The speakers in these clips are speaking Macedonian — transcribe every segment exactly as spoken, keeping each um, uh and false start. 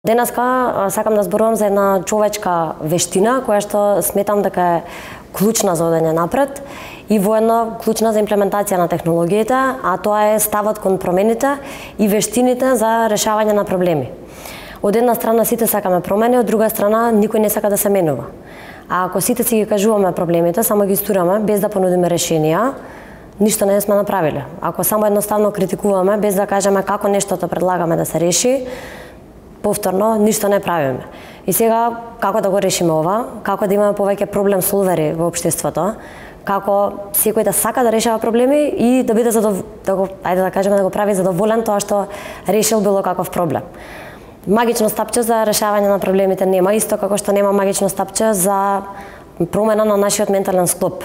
Денеска сакам да зборувам за една човечка вештина која што сметам дека е клучна за одење напред и воедно клучна за имплементација на технологиите, а тоа е ставот кон промените и вештините за решавање на проблеми. Од една страна сите сакаме промени, од друга страна никој не сака да се менува. А ако сите си ги кажуваме проблемите, само ги стураме без да понудиме решенија, ништо не сме направиле. Ако само едноставно критикуваме без да кажеме како нештото предлагаме да се реши, повторно ништо не правиме. И сега како да го решиме ова? Како да имаме повеќе проблем солвери во општеството? Како секој да сака да решава проблеми и да биде задов... да го, ајде да кажеме, да го прави задоволен тоа што решил било каков проблем. Магично стапче за решавање на проблемите нема, исто како што нема магично стапче за промена на нашиот ментален склоп.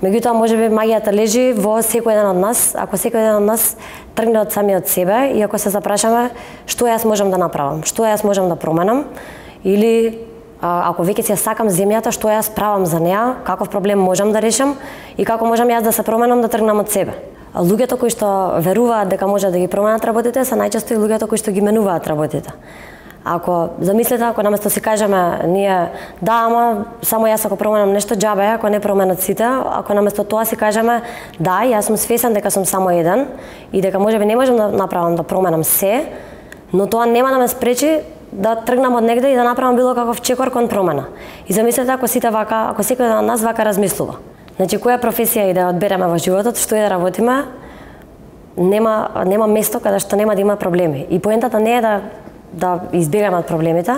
Меѓутоа, можеби магијата лежи во секој еден од нас, ако секој еден од нас тргне од самиот себе и ако се запрашаме што јас можам да направам, што јас можам да променам, или ако веќе си ја сакам земјата, што јас правам за неа, каков проблем можам да решам и како можам јас да се променам, да тргнам од себе. Луѓето кои што веруваат дека можат да ги променат работите се најчесто и луѓето кои што ги менуваат работите. Ако замислите, ако наместо си кажеме ние да, ама само јас ако променам нешто џабе, ако не променат сите, ако наместо тоа си кажеме да, јас сум свесен дека сум само еден и дека можеби не можам да направам да променам се, но тоа нема да ме спречи да тргнам од негде и да направам било каков чекор кон промена. И замислете ако сите вака, ако секој од нас вака размислува. Значи која професија и да одбереме во животот, што и да работиме, нема нема место каде што нема да има проблеми. И поентата не е да да избегаме од проблемите,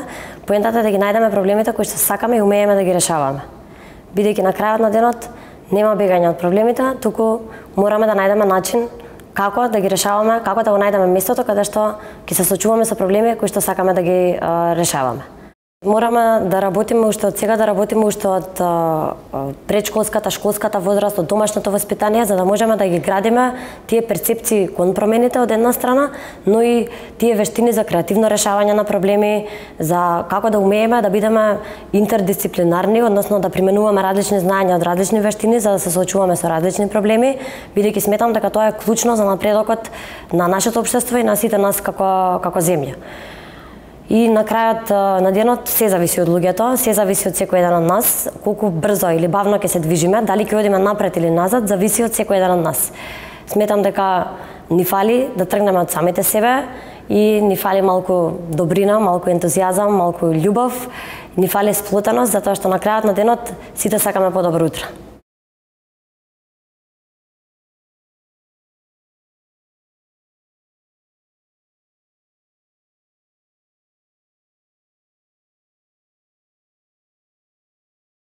поентата е да ги најдеме проблемите кои што сакаме и умееме да ги решаваме. Бидејќи на крајот на денот нема бегање од проблемите, туку мораме да најдеме начин како да ги решаваме, како да го најдеме местото каде што ќе се соочуваме со проблеми кои што сакаме да ги а, решаваме. Мораме да работиме уште од сега, да работиме уште од предшколската, школската возраст, од домашното воспитание, за да можеме да ги градиме тие перцепции кон промените од една страна, но и тие вештини за креативно решавање на проблеми, за како да умееме да бидеме интердисциплинарни, односно да применуваме различни знаења од различни вештини за да се соочуваме со различни проблеми, бидејќи сметам дека тоа е клучно за напредокот на нашето општество и на сите нас како како земја. И на крајот на денот се зависи од луѓето, се зависи од секој еден од нас, колку брзо или бавно ќе се движиме, дали ќе одиме напред или назад, зависи од секој еден од нас. Сметам дека ни фали да тргнеме од самите себе и ни фали малку добрина, малку ентузијазам, малку љубов, ни фали сплотеност, затоа што на крајот на денот сите сакаме подобро утро.